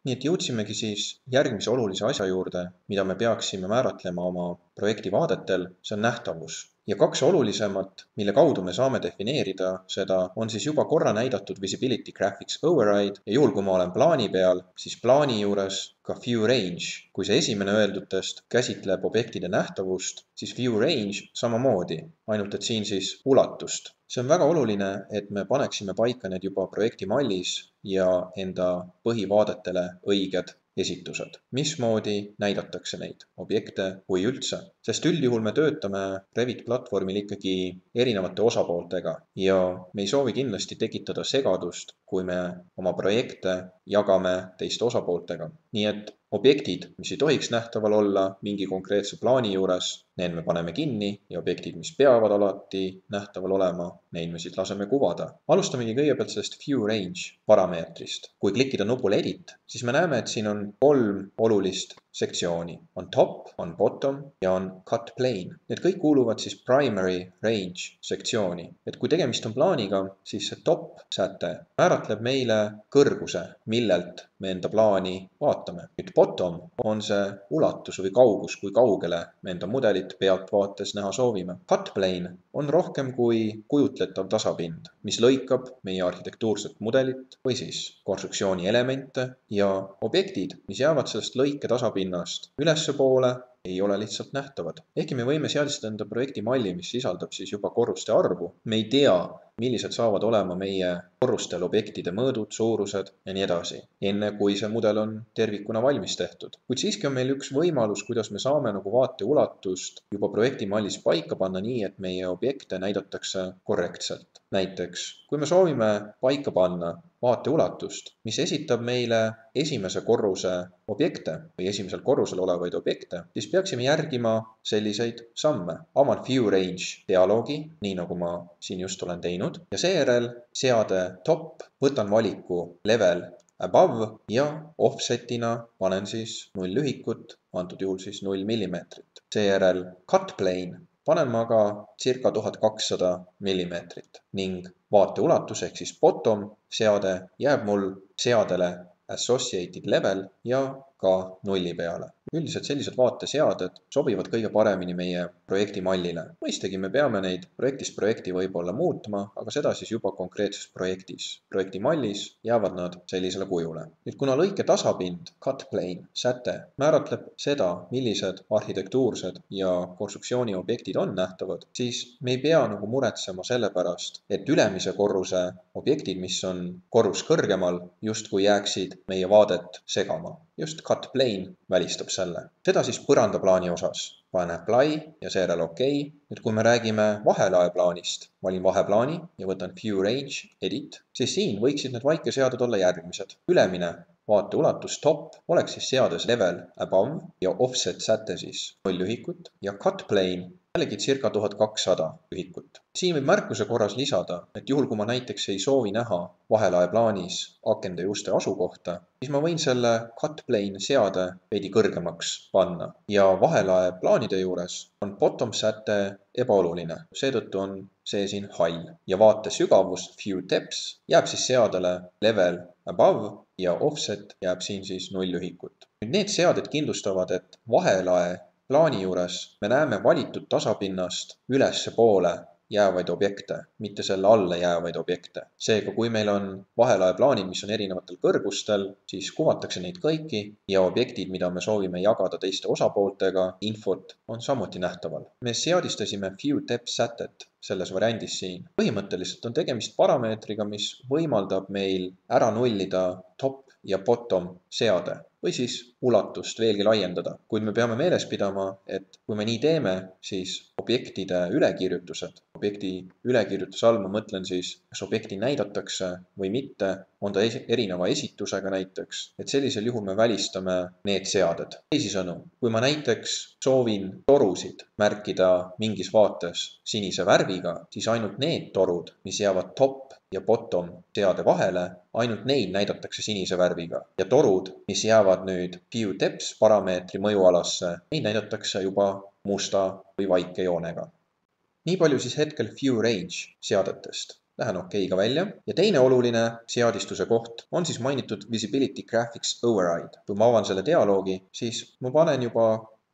Nii et jõudsimegi siis järgmise olulise asja juurde, mida me peaksime määratlema oma projekti vaadetel, see on nähtavus. Ja kaks olulisemat, mille kaudu me saame defineerida seda, on siis juba korra näidatud Visibility Graphics Override ja juhul, kui ma olen plaani peal, siis plaani juures ka View Range. Kui see esimene öeldutest käsitleb objektide nähtavust, siis View Range samamoodi, ainult et siin siis ulatust. See on väga oluline, et me paneksime paika need juba projekti mallis ja enda põhivaadetele õiged esitused. Mismoodi näidatakse neid objekte või üldse? Sest üldjuhul me töötame Revit platvormil ikkagi erinevate osapooltega ja me ei soovi kindlasti tekitada segadust, kui me oma projekte jagame teiste osapooltega. Nii et objektid, mis ei tohiks nähtaval olla mingi konkreetse plaani juures, need me paneme kinni ja objektid, mis peavad alati nähtaval olema, neid me siit laseme kuvada. Alustamegi kõigepealt sellest View Range parameetrist. Kui klikkida nupule Edit, siis me näeme, et siin on 3 olulist sektsiooni. On top, on bottom ja on cut plane. Need kõik kuuluvad siis primary range sektsiooni. Et kui tegemist on plaaniga, siis see top säte määratleb meile kõrguse, millelt me enda plaani vaatame. Nüüd bottom on see ulatus või kaugus, kui kaugele me enda mudelit pealtvaates näha soovime. Cut plane on rohkem kui kujutletav tasapind, mis lõikab meie arhitektuurset mudelit või siis konstruktsiooni elemente ja objektid, mis jäävad sellest lõike tasapinnast ülespoole, ei ole lihtsalt nähtavad. Ehkki me võime seadistada enda projekti malli, mis sisaldab siis juba korruste arvu, me ei tea, millised saavad olema meie korrustel objektide mõõdud, suurused ja nii edasi, enne kui see mudel on tervikuna valmis tehtud. Kuid siiski on meil üks võimalus, kuidas me saame vaate ulatust juba projekti mallis paika panna nii, et meie objekte näidatakse korrektselt. Näiteks, kui me soovime paika panna vaate ulatust, mis esitab meile esimese korruse objekte või esimesel korrusel olevaid objekte, siis peaksime järgima selliseid samme. Avan View Range dialoogi, nii nagu ma siin just olen teinud, ja seejärel seade top, võtan valiku level above ja offsetina panen siis 0 lühikut, antud juhul siis 0 millimeetrit. Seejärel cut plane panen ma ka circa 1200 millimeetrit ning vaate ulatus ehk siis bottom seade jääb mul seadele associated level ja ka 0 peale. Üldiselt sellised vaateseaded sobivad kõige paremini meie projekti mallile. Mõistagi me peame neid projektist projekti võib-olla muutma, aga seda siis juba konkreetses projektis. Projekti mallis jäävad nad sellisele kujule. Nüüd kuna lõike tasapind, cut plane, säte määratleb seda, millised arhitektuursed ja konstruktsiooni objektid on nähtavad, siis me ei pea muretsema selle pärast, et ülemise korruse objektid, mis on korrus kõrgemal, justkui jääksid meie vaadet segama. Just cut plane välistab selle. Seda siis põrandaplaani osas. Panen apply ja seejärel OK. Nüüd kui me räägime vahelaeplaanist, valin vaheplaani ja võtan View Range, Edit, siis siin võiksid need vaikeseaded olla järgmised. Ülemine vaate ulatus top oleks siis seades level above ja offset säte siis 0 lühikut ja cut plane jällegi circa 1200 lühikut. Siin võib märkuse korras lisada, et juhul kui ma näiteks ei soovi näha vahelaeplaanis akende juste asukohta, siis ma võin selle cut plane seade veidi kõrgemaks panna ja vahelaeplaanide juures on bottom säte ebaoluline. Seetõttu on see siin hall ja vaate sügavus View Depth jääb siis seadele level above ja offset jääb siin siis 0 lühikut. Nüüd need seaded kindlustavad, et vahelae plaani juures me näeme valitud tasapinnast ülesse poole jäävaid objekte, mitte selle alla jäävaid objekte. Seega, kui meil on vahelae plaanid, mis on erinevatel kõrgustel, siis kuvatakse neid kõiki ja objektid, mida me soovime jagada teiste osapooltega, infot on samuti nähtaval. Me seadistasime View Depth sätet selles variandis siin. Põhimõtteliselt on tegemist parameetriga, mis võimaldab meil ära nullida top ja bottom seade või siis ulatust veelgi laiendada. Kuid me peame meeles pidama, et kui me nii teeme, siis objektide ülekirjutused, objekti ülekirjutuse all ma mõtlen siis, kas objekti näidatakse või mitte, on ta erineva esitusega näiteks, et sellisel juhul me välistame need seaded. Teisisõnu, kui ma näiteks soovin torusid märkida mingis vaates sinise värviga, siis ainult need torud, mis jäävad top ja bottom seade vahele, ainult neid näidatakse sinise värviga. Ja torud, mis jäävad nüüd View Depth parameetri mõjualasse, neid näidatakse juba musta või vaike joonega. Nii palju siis hetkel View Range seadetest. lähen OK-ga välja ja teine oluline seadistuse koht on siis mainitud Visibility Graphics Override. Kui ma avan selle dialoogi, siis ma panen juba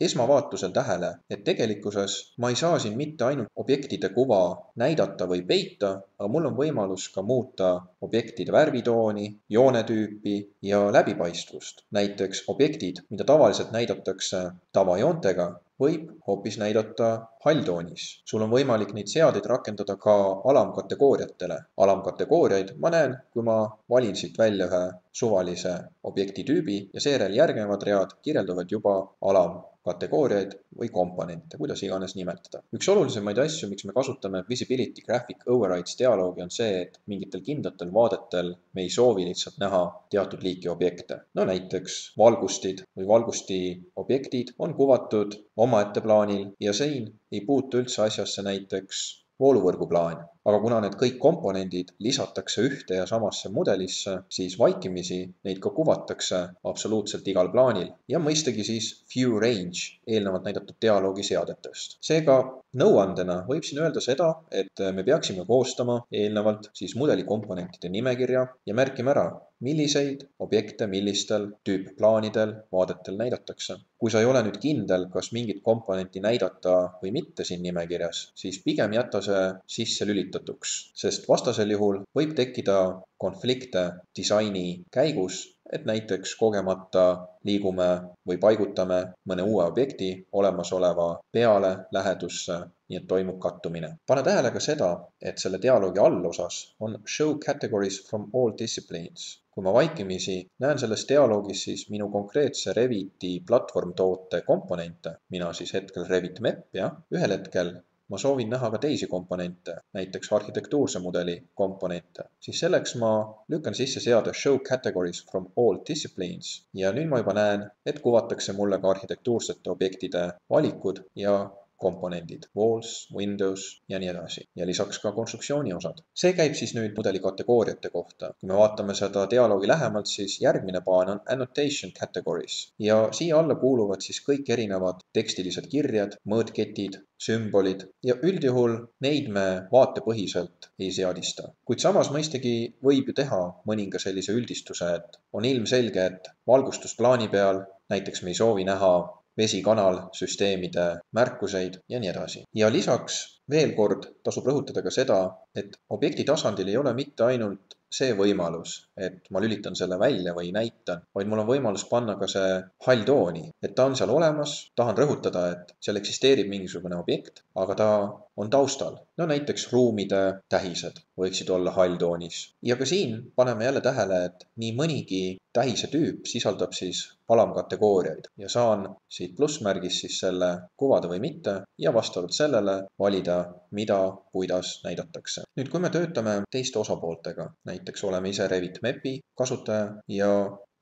esmavaatusel tähele, et tegelikkuses ma ei saa siin mitte ainult objektide kuva näidata või peita, aga mul on võimalus ka muuta objektide värvitooni, joonetüüpi ja läbipaistvust. Näiteks objektid, mida tavaliselt näidatakse tavajoontega, võib hoopis näidata halltoonis. Sul on võimalik neid seadeid rakendada ka alamkategooriatele. Alamkategooriaid ma näen, kui ma valin siit välja ühe suvalise objektitüübi ja seejärel järgnevad read kirjeldavad juba alamkategooriaid või komponente, kuidas iganes nimetada. Üks olulisemaid asju, miks me kasutame Visibility Graphic Overrides dialoogi, on see, et mingitel kindlatel vaadetel me ei soovi lihtsalt näha teatud liiki objekte. No näiteks valgustid või valgusti objektid on kuvatud omaette plaanil ja siin ei puutu üldse asjasse näiteks vooluvõrguplaan. Aga kuna need kõik komponendid lisatakse ühte ja samasse mudelisse, siis vaikimisi neid ka kuvatakse absoluutselt igal plaanil ja mõistagi siis view range eelnevalt näidatud dialoogi seadetest. Seega nõuandena võib siin öelda seda, et me peaksime koostama eelnevalt siis mudeli komponentide nimekirja ja märkima ära, milliseid objekte millistel tüüpplaanidel vaadetel näidatakse. Kui sa ei ole nüüd kindel, kas mingit komponenti näidata või mitte siin nimekirjas, siis pigem jäta see sisse lülitatuks, sest vastasel juhul võib tekkida konflikte disaini käigus, et näiteks kogemata liigume või paigutame mõne uue objekti olemasoleva peale lähedusse, nii et toimub kattumine. Pane tähele ka seda, et selle dialoogi allosas on Show categories from all disciplines. Kui ma vaikimisi näen selles dialoogis siis minu konkreetse Reviti platvormtoote komponente, mina siis hetkel Revit MEP, ühel hetkel ma soovin näha ka teisi komponente, näiteks arhitektuurse mudeli komponente, siis selleks ma lükkan sisse seade Show categories from all disciplines ja nüüd ma juba näen, et kuvatakse mulle ka arhitektuursete objektide valikud ja komponendid, walls, windows ja nii edasi. Ja lisaks ka konstruktsiooni osad. See käib siis nüüd mudeli kategooriate kohta. Kui me vaatame seda dialoogi lähemalt, siis järgmine paan on annotation categories. Ja siia alla kuuluvad siis kõik erinevad tekstilised kirjad, mõõtketid, sümbolid ja üldjuhul neid me vaatepõhiselt ei seadista. Kuid samas mõistagi võib ju teha mõninga sellise üldistuse, et on ilmselge, et valgustusplaani peal näiteks me ei soovi näha vesikanalsüsteemide märkuseid ja nii edasi. Ja lisaks veel kord tasub rõhutada ka seda, et objekti tasandil ei ole mitte ainult see võimalus, et ma lülitan selle välja või näitan, vaid mul on võimalus panna ka see halltooni, et ta on seal olemas, tahan rõhutada, et seal eksisteerib mingisugune objekt, aga ta on taustal. No näiteks ruumide tähised võiksid olla halltoonis. Ja ka siin paneme jälle tähele, et nii mõnigi tähise tüüp sisaldab siis alamkategooriaid ja saan siit plussmärgis siis selle kuvada või mitte ja vastavalt sellele valida, mida, kuidas näidatakse. Nüüd, kui me töötame teiste osapooltega, näiteks oleme ise Revit MEP-i kasutaja ja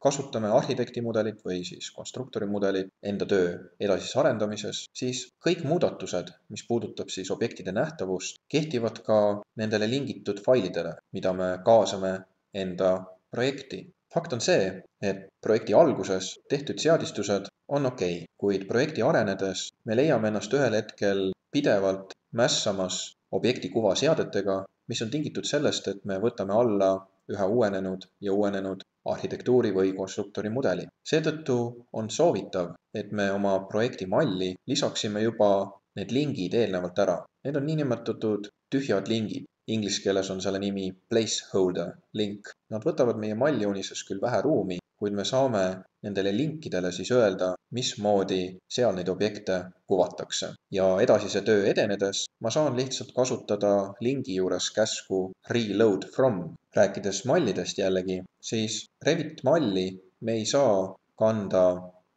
kasutame arhitektimudelit või siis konstruktori mudelit enda töö edasises arendamises, siis kõik muudatused, mis puudutab siis objektide nähtavust, kehtivad ka nendele lingitud failidele, mida me kaasame enda projekti. Fakt on see, et projekti alguses tehtud seadistused on okei, kuid projekti arenedes me leiame ennast ühel hetkel pidevalt mässamas objekti kuva seadetega, mis on tingitud sellest, et me võtame alla üha uuenenud ja uuenenud arhitektuuri või konstruktori mudeli. Seetõttu on soovitav, et me oma projekti malli lisaksime juba need lingid eelnevalt ära. Need on niinimetatud tühjad lingid. Inglise keeles on selle nimi placeholder link. Nad võtavad meie mallijoonises küll vähe ruumi, kuid me saame nendele linkidele siis öelda, mismoodi seal neid objekte kuvatakse. Ja edasise töö edenedes ma saan lihtsalt kasutada lingi juures käsku reload from. Rääkides mallidest jällegi, siis Revit malli me ei saa kanda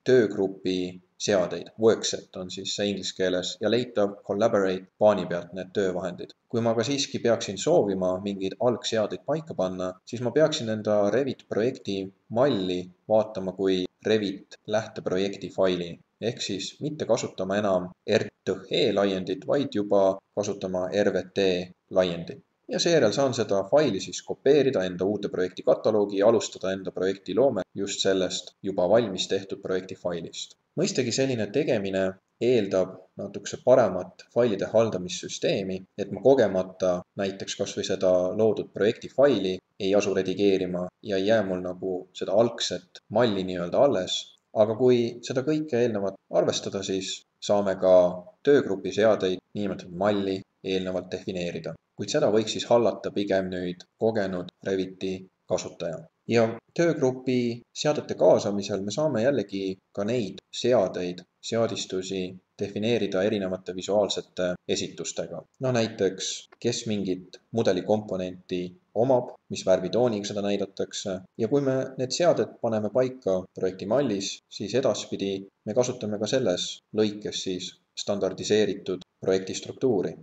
töögrupi seadeid. Workset on siis see inglise keeles ja leitav collaborate paani pealt need töövahendid. Kui ma ka siiski peaksin soovima mingeid algseadeid paika panna, siis ma peaksin enda Revit projekti malli vaatama kui Revit lähteprojekti faili. Ehk siis mitte kasutama enam RTE laiendit, vaid juba kasutama RVT laiendit. ja seejärel saan seda faili siis kopeerida enda uude projekti kataloogi ja alustada enda projekti loome just sellest juba valmis tehtud projekti failist. Mõistagi selline tegemine eeldab natukese paremat failide haldamissüsteemi, et ma kogemata näiteks kas või seda loodud projekti faili ei asu redigeerima ja ei jää mul nagu seda algset malli nii-öelda alles. Aga kui seda kõike eelnevalt arvestada, siis saame ka töögrupi seadeid niinimetatud malli eelnevalt defineerida. Kuid seda võiks siis hallata pigem nüüd kogenud Reviti kasutaja. Ja töögrupi seadete kaasamisel me saame jällegi ka neid seadeid, seadistusi defineerida erinevate visuaalsete esitustega. No näiteks, kes mingit mudelikomponenti omab, mis värvitooniga seda näidatakse. Ja kui me need seaded paneme paika projekti mallis, siis edaspidi me kasutame ka selles lõikes siis standardiseeritud projekti struktuuri.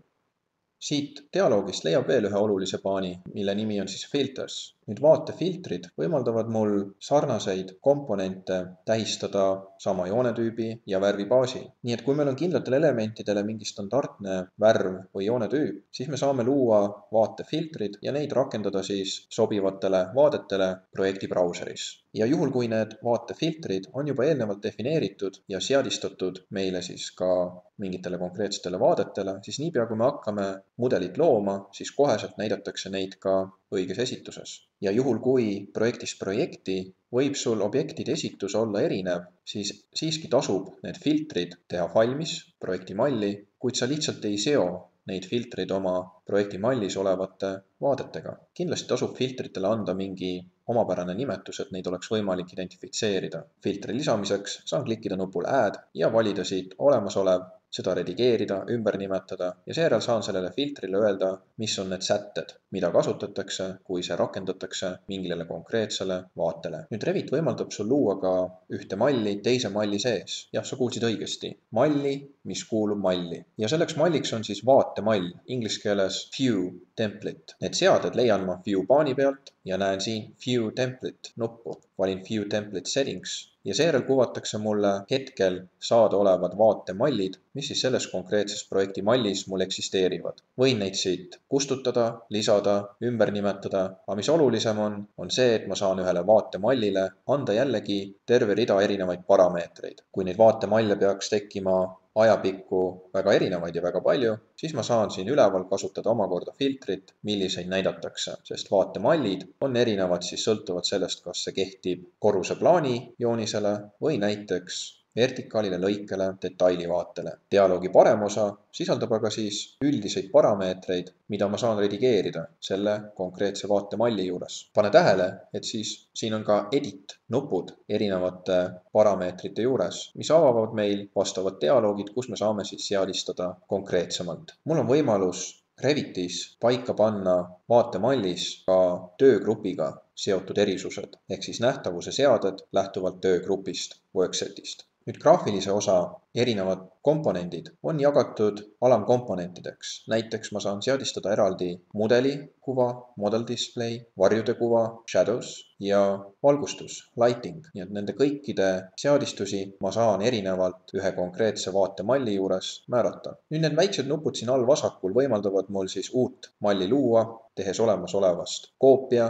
Siit dialoogist leiab veel ühe olulise paani, mille nimi on siis filters. Nüüd vaatefiltrid võimaldavad mul sarnaseid komponente tähistada sama joonetüübi ja värvi baasil. Nii et kui meil on kindlatele elementidele mingi standardne värv või joonetüüp, siis me saame luua vaatefiltrid ja neid rakendada siis sobivatele vaadetele projekti brauseris. Ja juhul, kui need vaatefiltrid on juba eelnevalt defineeritud ja seadistatud meile siis ka mingitele konkreetsetele vaadetele, siis niipea kui me hakkame mudelit looma, siis koheselt näidatakse neid ka õiges esituses. Ja juhul, kui projektist projekti võib sul objektide esitus olla erinev, siis siiski tasub need filtrid teha valmis projekti malli, kuid sa lihtsalt ei seo neid filtreid oma projekti mallis olevate vaadetega. Kindlasti tasub filtritele anda mingi omapärane nimetus, et neid oleks võimalik identifitseerida. Filtri lisamiseks saan klikkida nupul Add ja valida siit olemasolev, seda redigeerida, ümber nimetada ja seejärel saan sellele filtrile öelda, mis on need sätted, mida kasutatakse, kui see rakendatakse mingile konkreetsele vaatele. Nüüd Revit võimaldab sul luua ka ühte malli teise malli sees. Jah, sa kuulsid õigesti. Malli, mis kuulub malli. Ja selleks malliks on siis vaatemall, inglise keeles view template. Need seaded leian ma view paani pealt ja näen siin view template nuppu. Valin view template settings ja seejärel kuvatakse mulle hetkel saadaolevad vaatemallid, mis siis selles konkreetses projekti mallis mul eksisteerivad. Võin neid siit kustutada, lisada, ümber nimetada, aga mis olulisem on see, et ma saan ühele vaatemallile anda jällegi terve rida erinevaid parameetreid. Kui neid vaatemalle peaks tekkima ajapikku väga erinevaid ja väga palju, siis ma saan siin üleval kasutada omakorda filtrit, milliseid näidatakse, sest vaatemallid on erinevad siis sõltuvad sellest, kas see kehtib korruseplaani joonisele või näiteks vertikaalile, lõikele, detailivaatele. Dialoogi parem osa sisaldab aga siis üldiseid parameetreid, mida ma saan redigeerida selle konkreetse vaatemalli juures. Pane tähele, et siis siin on ka edit nupud erinevate parameetrite juures, mis avavad meil vastavad dialoogid, kus me saame siis seadistada konkreetsemalt. Mul on võimalus Revitis paika panna vaatemallis ka töögrupiga seotud erisused, ehk siis nähtavuse seaded lähtuvalt töögrupist, worksetist. Nüüd graafilise osa erinevad komponendid on jagatud alamkomponentideks. Näiteks ma saan seadistada eraldi mudeli kuva, model display, varjude kuva, shadows ja valgustus, lighting. Nii et nende kõikide seadistusi ma saan erinevalt ühe konkreetse vaatemalli juures määrata. Nüüd need väiksed nupud siin all vasakul võimaldavad mul siis uut malli luua, tehes olemasolevast koopia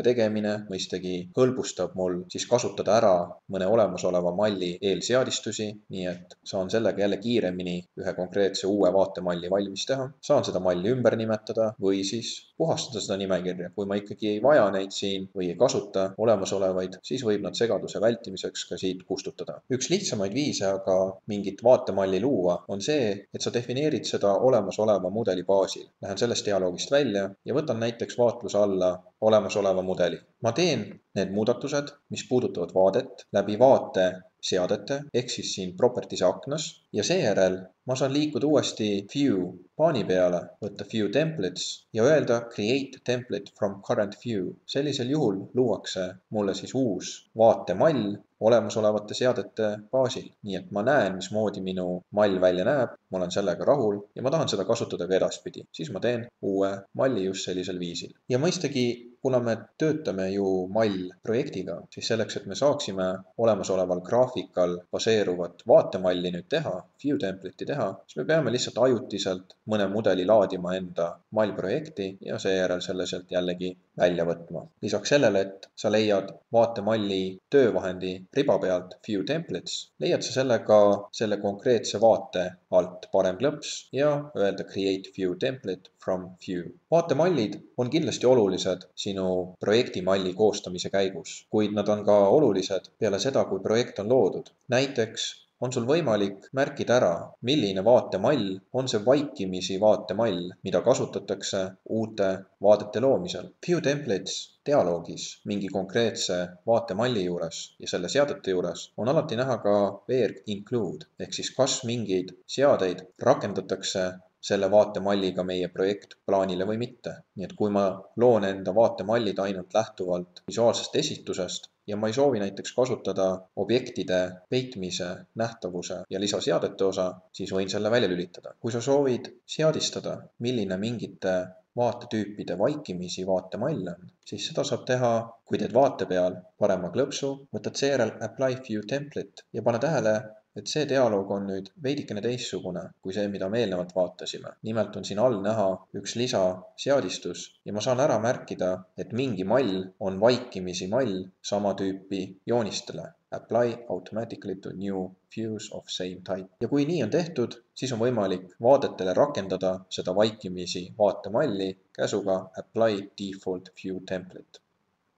tegemine mõistagi hõlbustab mul siis kasutada ära mõne olemasoleva malli eelseadistusi, nii et saan sellega jälle kiiremini ühe konkreetse uue vaatemalli valmis teha. Saan seda malli ümber nimetada või siis puhastada seda nimekirja. Kui ma ikkagi ei vaja neid siin või ei kasuta olemasolevaid, siis võib nad segaduse vältimiseks ka siit kustutada. Üks lihtsamaid viise aga mingit vaatemalli luua on see, et sa defineerid seda olemasoleva mudeli baasil. Lähen sellest dialoogist välja ja võtan näiteks vaatluse alla olemasoleva mudeli. Ma teen need muudatused, mis puudutavad vaadet läbi vaate seadete, ehk siis siin properties aknas ja seejärel ma saan liikuda uuesti view paani peale, võtta view templates ja öelda create template from current view. Sellisel juhul luuakse mulle siis uus vaatemall olemasolevate seadete baasil. Nii et ma näen, mismoodi minu mall välja näeb, ma olen sellega rahul ja ma tahan seda kasutada ka edaspidi. Siis ma teen uue malli just sellisel viisil. Ja mõistagi, kuna me töötame ju mall projektiga, siis selleks, et me saaksime olemasoleval graafikal baseeruvat vaatemalli nüüd teha, view template'i teha, siis me peame lihtsalt ajutiselt mõne mudeli laadima enda mallprojekti ja seejärel selle sealt jällegi välja võtma. Lisaks sellele, et sa leiad vaatemalli töövahendi riba pealt view templates, leiad sa sellega selle konkreetse vaate alt parem klõps ja öelda create view template from view. Vaatemallid on kindlasti olulised sinu projektimalli koostamise käigus, kuid nad on ka olulised peale seda, kui projekt on loodud. Näiteks on sul võimalik märkida ära, milline vaatemall on see vaikimisi vaatemall, mida kasutatakse uute vaadete loomisel. View templates dialoogis mingi konkreetse vaatemalli juures ja selle seadete juures on alati näha ka where include ehk siis kas mingeid seadeid rakendatakse selle vaatemalliga meie projektplaanile või mitte. Nii et kui ma loon enda vaatemallid ainult lähtuvalt visuaalsest esitusest ja ma ei soovi näiteks kasutada objektide peitmise, nähtavuse ja lisaseadete osa, siis võin selle välja lülitada. Kui sa soovid seadistada, milline mingite vaatetüüpide vaikimisi vaatemall on, siis seda saab teha, kui teed vaate peal parema klõpsu, võtad seejärel apply view template ja pane tähele, et see dialoog on nüüd veidikene teistsugune kui see, mida me eelnevalt vaatasime. Nimelt on siin all näha üks lisaseadistus ja ma saan ära märkida, et mingi mall on vaikimisi mall sama tüüpi joonistele. Apply automatically to new views of same type. Ja kui nii on tehtud, siis on võimalik vaadetele rakendada seda vaikimisi vaatemalli käsuga apply default view template.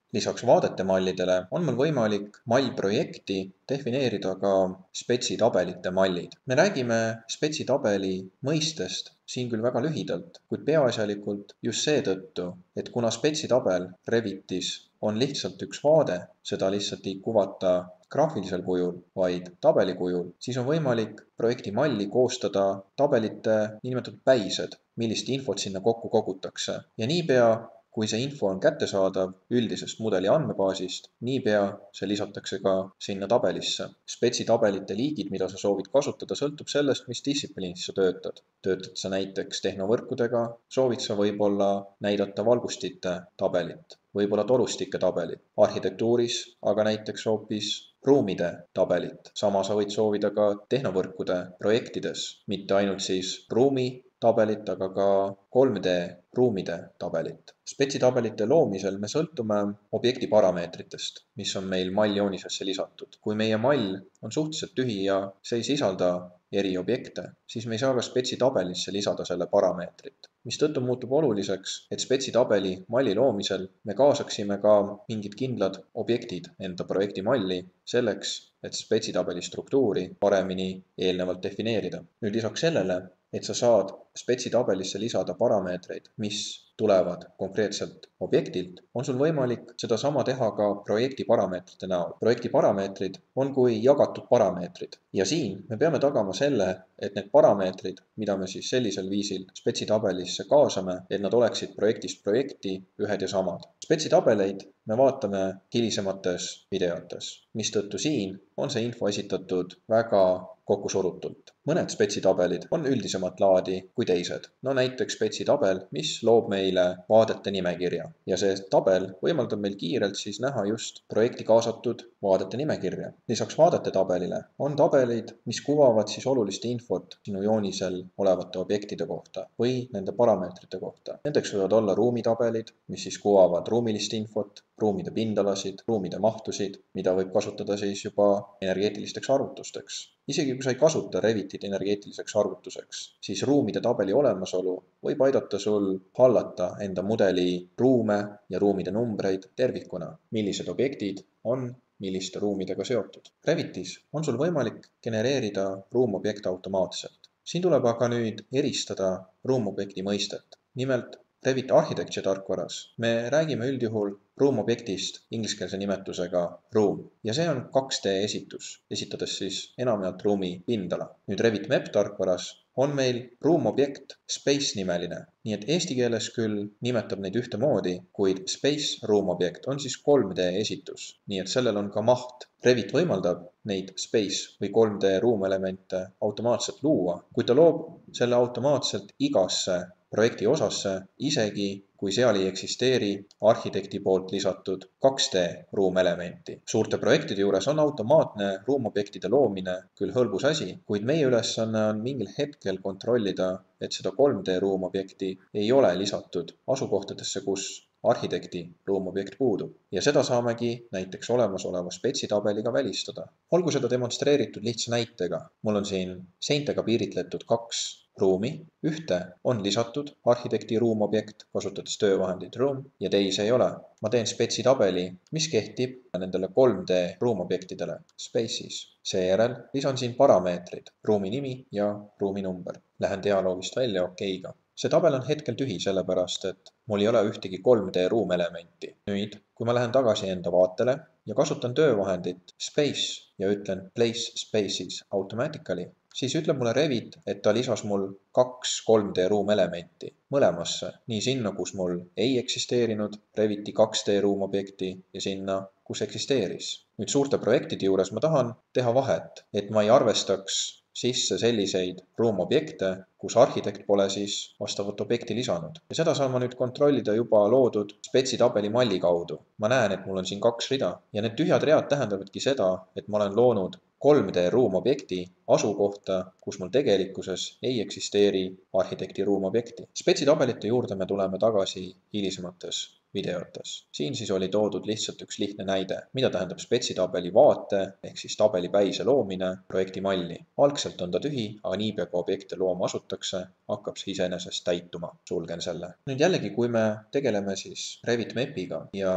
Lisaks vaadetemallidele on mul võimalik mallprojekti defineerida ka spetsitabelite mallid. Me räägime spetsitabeli mõistest siin küll väga lühidalt, kuid peaasjalikult just seetõttu, et kuna spetsitabel Revitis on lihtsalt üks vaade, seda lihtsalt ei kuvata graafilisel kujul, vaid tabeli kujul, siis on võimalik projekti malli koostada tabelite niinimetatud päised, millist infot sinna kokku kogutakse. Ja niipea, kui see info on kättesaadav üldisest mudeli andmebaasist, niipea see lisatakse ka sinna tabelisse. Spetsitabelite liigid, mida sa soovid kasutada, sõltub sellest, mis distsipliinis sa töötad. Töötad sa näiteks tehnovõrkudega, soovid sa võib-olla näidata valgustite tabelit, võib-olla torustike tabelit, arhitektuuris, aga näiteks hoopis ruumide tabelit. Sama sa võid soovida ka tehnovõrkude projektides, mitte ainult siis ruumi tabelit, aga ka 3D ruumide tabelit. Spetsitabelite loomisel me sõltume objekti parameetritest, mis on meil malljoonisesse lisatud. Kui meie mall on suhteliselt tühi ja see ei sisalda eri objekte, siis me ei saa ka spetsitabelisse lisada selle parameetrit. Mistõttu muutub oluliseks, et spetsitabeli malli loomisel me kaasaksime ka mingid kindlad objektid enda projekti malli selleks, et spetsitabeli struktuuri paremini eelnevalt defineerida. Nüüd lisaks sellele, et sa saad spetsitabelisse lisada parameetreid, mis tulevad konkreetselt objektilt, on sul võimalik seda sama teha ka projekti parameetrite näol. Projekti parameetrid on kui jagatud parameetrid ja siin me peame tagama selle, et need parameetrid, mida me siis sellisel viisil spetsitabelisse kaasame, et nad oleksid projektist projekti ühed ja samad. Spetsitabeleid me vaatame hilisemates videotes, mistõttu siin on see info esitatud väga kokkusurutult. Mõned spetsitabelid on üldisemat laadi kui teised. No näiteks spetsitabel, mis loob meile vaadete nimekirja. Ja see tabel võimaldab meil kiirelt siis näha just projekti kaasatud vaadete nimekirja. Lisaks vaadete tabelile on tabelid, mis kuvavad siis olulist infot sinu joonisel olevate objektide kohta või nende parameetrite kohta. Nendeks võivad olla ruumitabelid, mis siis kuvavad ruumilist infot, ruumide pindalasid, ruumide mahtusid, mida võib kasutada siis juba energeetilisteks arvutusteks. Isegi kui sa ei kasuta Revitit energeetiliseks arvutuseks, siis ruumide tabeli olemasolu võib aidata sul hallata enda mudeli ruume ja ruumide numbreid tervikuna, millised objektid on milliste ruumidega seotud. Revitis on sul võimalik genereerida ruumobjekte automaatselt. Siin tuleb aga nüüd eristada ruumobjekti mõistet. Nimelt, Revit Architecture tarkvaras me räägime üldjuhul ruumobjektist ingliskeelse nimetusega ruum ja see on 2D esitus, esitades siis enamjaolt ruumi pindala. Nüüd Revit Map tarkvaras on meil ruumobjekt Space nimeline, nii et eesti keeles küll nimetab neid ühtemoodi, kuid Space ruumobjekt on siis 3D esitus, nii et sellel on ka maht. Revit võimaldab neid Space või 3D ruumelemente automaatselt luua, kuid ta loob selle automaatselt igasse projekti osasse, isegi kui seal ei eksisteeri arhitekti poolt lisatud 2D ruumelementi. Suurte projektide juures on automaatne ruumobjektide loomine küll hõlbus asi, kuid meie ülesanne on mingil hetkel kontrollida, et seda 3D ruumobjekti ei ole lisatud asukohtadesse, kus arhitekti ruumobjekt puudub. Ja seda saamegi näiteks olemasoleva spetsitabeliga välistada. Olgu seda demonstreeritud lihtsa näitega. Mul on siin seintega piiritletud 2 ruumi. Ühte on lisatud arhitekti ruumobjekt, kasutades töövahendit room, ja teise ei ole. Ma teen spetsitabeli, mis kehtib nendele 3D ruumobjektidele spaces. Seejärel lisan siin parameetrid, ruumi nimi ja ruumi number. Lähen dialoogist välja okeiga. See tabel on hetkel tühi sellepärast, et mul ei ole ühtegi 3D ruumelementi. Nüüd, kui ma lähen tagasi enda vaatele ja kasutan töövahendit space ja ütlen place spaces automatically, siis ütleb mulle Revit, et ta lisas mul 2 3D ruumelementi mõlemasse, nii sinna, kus mul ei eksisteerinud Reviti 2D ruumobjekti ja sinna, kus eksisteeris. Nüüd suurte projektide juures ma tahan teha vahet, et ma ei arvestaks sisse selliseid ruumobjekte, kus arhitekt pole siis vastavat objekti lisanud. Ja seda saan ma nüüd kontrollida juba loodud spetsitabeli malli kaudu. Ma näen, et mul on siin 2 rida ja need tühjad read tähendavadki seda, et ma olen loonud 3D ruumobjekti asukohta, kus mul tegelikkuses ei eksisteeri arhitekti ruumobjekti. Spetsitabelite juurde me tuleme tagasi hilisemates videotes. Siin siis oli toodud lihtsalt üks lihtne näide, mida tähendab spetsitabeli vaate ehk siis tabelipäise loomine projekti malli. Algselt on ta tühi, aga niipea kui objekte looma asutakse, hakkab see iseenesest täituma. Sulgen selle. Nüüd jällegi, kui me tegeleme siis Revit Mapiga ja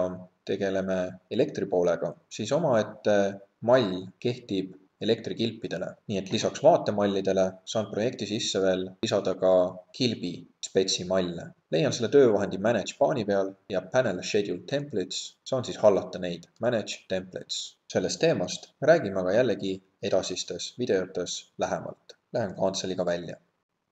tegeleme elektripoolega, siis omaette mall kehtib elektrikilpidele. Nii et lisaks vaatemallidele saan projekti sisse veel lisada ka kilbi spetsi malle. Leian selle töövahendi Manage paani peal ja Panel Schedule Templates saan siis hallata neid Manage Templates. Sellest teemast räägime aga jällegi edasistes videotes lähemalt. Lähen kantseliga välja.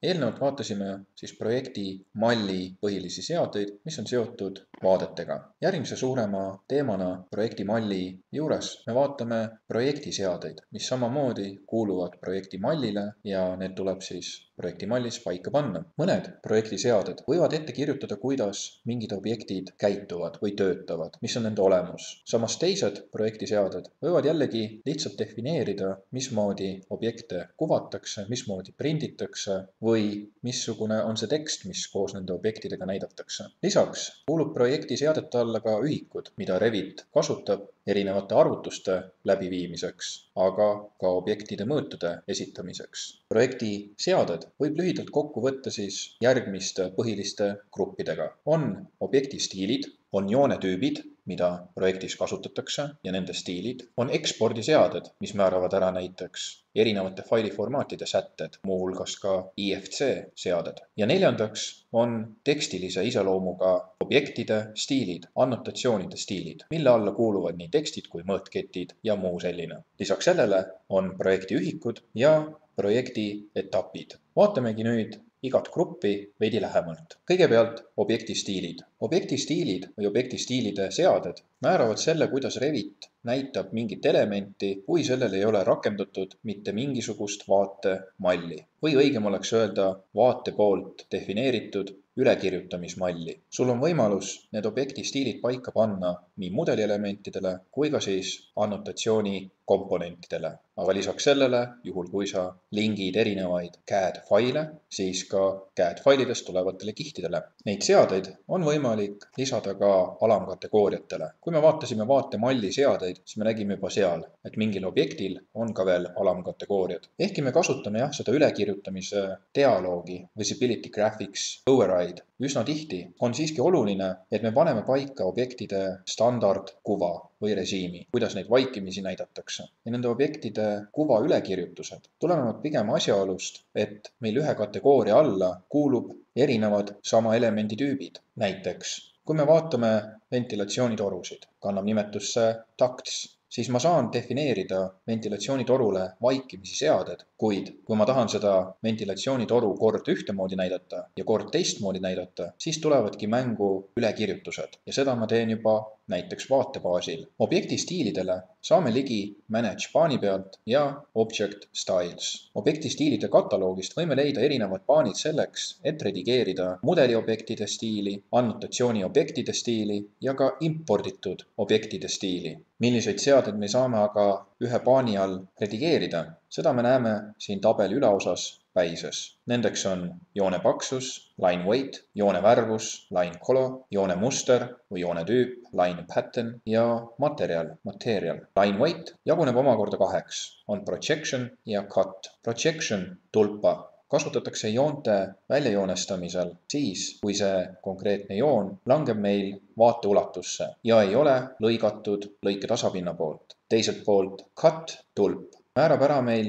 Eelnevalt vaatasime siis projekti malli põhilisi seadeid, mis on seotud vaadetega. Järgmise suurema teemana projekti malli juures me vaatame projekti seadeid, mis samamoodi kuuluvad projekti mallile ja need tuleb siis projekti mallis paika panna. Mõned projekti seaded võivad ette kirjutada, kuidas mingid objektid käituvad või töötavad, mis on nende olemus. Samas teised projekti seaded võivad jällegi lihtsalt defineerida, mismoodi objekte kuvatakse, mismoodi prinditakse või missugune on see tekst, mis koos nende objektidega näidatakse. Lisaks kuulub projekti seadete alla ka ühikud, mida Revit kasutab erinevate arvutuste läbiviimiseks, aga ka objektide mõõtude esitamiseks. Projekti seaded võib lühidalt kokku võtta siis järgmiste põhiliste gruppidega. On objekti stiilid, on joonetüübid, mida projektis kasutatakse ja nende stiilid, on ekspordiseaded, mis määravad ära näiteks erinevate failiformaatide sätted, muuhulgas ka IFC seaded. Ja neljandaks on tekstilise iseloomuga objektide stiilid, annotatsioonide stiilid, mille alla kuuluvad nii tekstid kui mõõtketid ja muu selline. Lisaks sellele on projekti ühikud ja projekti etapid. Vaatamegi nüüd igat gruppi veidi lähemalt. Kõigepealt objekti stiilid. Objekti stiilid või objekti stiilide seaded määravad selle, kuidas Revit näitab mingit elementi, kui sellel ei ole rakendatud mitte mingisugust vaatemalli. Või õigem oleks öelda vaate poolt defineeritud ülekirjutamismalli. Sul on võimalus need objekti stiilid paika panna nii mudelielementidele kui ka siis annotatsiooni komponentidele. Aga lisaks sellele, juhul kui sa lingid erinevaid CAD-faile, siis ka CAD-failidest tulevatele kihtidele. Neid seadeid on võimalik lisada ka alamkategooriatele. Kui me vaatasime vaatemalli seadeid, siis me nägime juba seal, et mingil objektil on ka veel alamkategooriad. Ehkki me kasutame seda ülekirjutamise dialoogi, visibility graphics, override üsna tihti, on siiski oluline, et me paneme paika objektide standardkuva või režiimi, kuidas neid vaikimisi näidatakse. Ja nende objektide kuva ülekirjutused tulenevad pigem asjaolust, et meil ühe kategooria alla kuulub erinevad sama elemendi tüübid. Näiteks, kui me vaatame ventilatsioonitorusid, kannab nimetusse ducts, siis ma saan defineerida ventilatsioonitorule vaikimisi seaded, kuid kui ma tahan seda ventilatsioonitoru kord ühtemoodi näidata ja kord teistmoodi näidata, siis tulevadki mängu ülekirjutused ja seda ma teen juba näiteks vaate baasil. Objekti stiilidele saame ligi Manage paani pealt ja Object Styles. Objekti stiilide kataloogist võime leida erinevad paanid selleks, et redigeerida mudeliobjektide stiili, annotatsiooni objektide stiili ja ka imporditud objektide stiili. Milliseid seadeid me saame aga ühe paani all redigeerida, seda me näeme siin tabeli üleosas päises. Nendeks on joone paksus, line weight, joone värvus, line color, joone muster või joone tüüp, line pattern ja material. Line weight jaguneb omakorda kaheks, on projection ja cut. Projection tulpa kasutatakse joonte väljajoonestamisel siis, kui see konkreetne joon langeb meil vaateulatusse ja ei ole lõigatud lõike tasapinna poolt. Teiselt poolt cut tulp määrab ära meil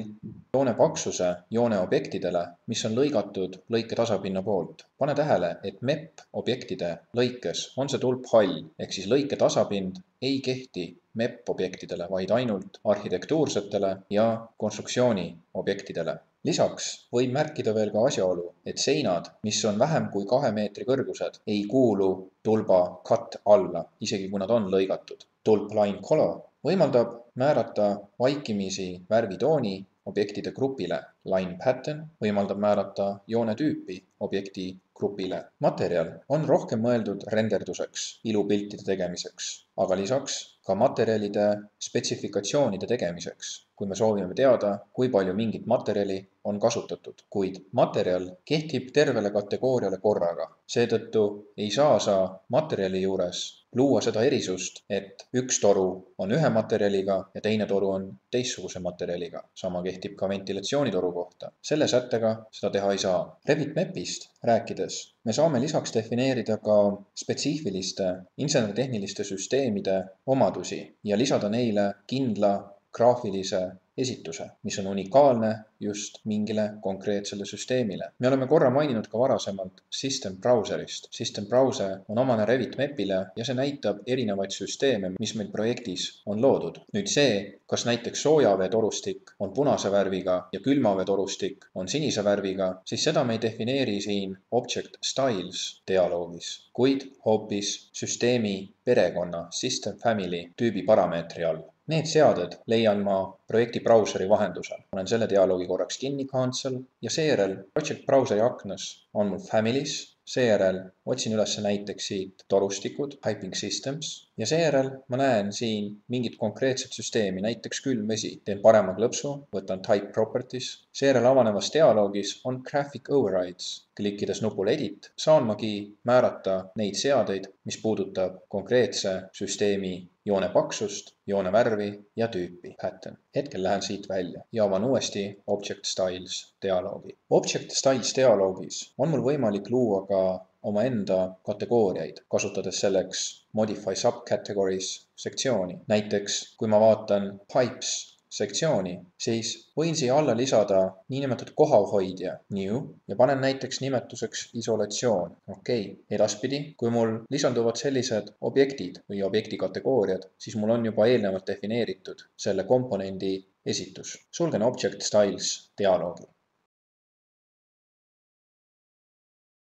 joone paksuse joone objektidele, mis on lõigatud lõike tasapinna poolt. Pane tähele, et MEP objektide lõikes on see tulp hall, ehk siis lõike tasapind ei kehti MEP objektidele, vaid ainult arhitektuursetele ja konstruktsiooni objektidele. Lisaks võib märkida veel ka asjaolu, et seinad, mis on vähem kui 2 meetri kõrgused, ei kuulu tulba cut alla, isegi kui nad on lõigatud. Tulp line color võimaldab määrata vaikimisi värvitooni objektide grupile. Line pattern võimaldab määrata joone tüüpi objekti grupile. Materjal on rohkem mõeldud renderduseks, ilupiltide tegemiseks, aga lisaks ka materjalide spetsifikatsioonide tegemiseks, kui me soovime teada, kui palju mingit materjali on kasutatud. Kuid materjal kehtib tervele kategooriale korraga. Seetõttu ei saa sa materjali juures luua seda erisust, et üks toru on ühe materjaliga ja teine toru on teistsuguse materjaliga. Sama kehtib ka ventilatsioonitoru kohta. Selle sättega seda teha ei saa. Revit MEP-ist rääkides me saame lisaks defineerida ka spetsiifiliste inseneritehniliste süsteemide omadusi ja lisada neile kindla graafilise esituse, mis on unikaalne just mingile konkreetsele süsteemile. Me oleme korra maininud ka varasemalt System Browserist. System Browser on omane Revit MEP-ile ja see näitab erinevaid süsteeme, mis meil projektis on loodud. Nüüd see, kas näiteks soojaveetorustik on punase värviga ja külmaveetorustik on sinise värviga, siis seda me ei defineeri siin Object Styles dialoogis, kuid hoopis süsteemi perekonna System Family tüübi parameetri all. Need seaded leian ma projekti brauseri vahendusel. Olen selle dialoogi korraks kinni cancel ja seejärel Project Browseri aknas on mul families, seejärel otsin üles näiteks siit torustikud, Piping Systems ja seejärel ma näen siin mingit konkreetset süsteemi, näiteks külmvesi. Teen parema klõpsu, võtan Type Properties, seejärel avanevas dialoogis on Graphic Overrides. Klikkides nupul Edit saan magi määrata neid seadeid, mis puudutab konkreetse süsteemi joone paksust, joone värvi ja tüüpi pattern. Hetkel lähen siit välja ja avan uuesti Object Styles dialoogi. Object Styles dialoogis on mul võimalik luua ka omaenda kategooriaid, kasutades selleks Modify Subcategories sektsiooni. Näiteks, kui ma vaatan Pipes sektsiooni, siis võin siia alla lisada niinimetatud kohahoidja new ja panen näiteks nimetuseks isolatsioon. Edaspidi, kui mul lisanduvad sellised objektid või objekti kategooriad, siis mul on juba eelnevalt defineeritud selle komponendi esitus. Sulgen Object Styles dialoogi.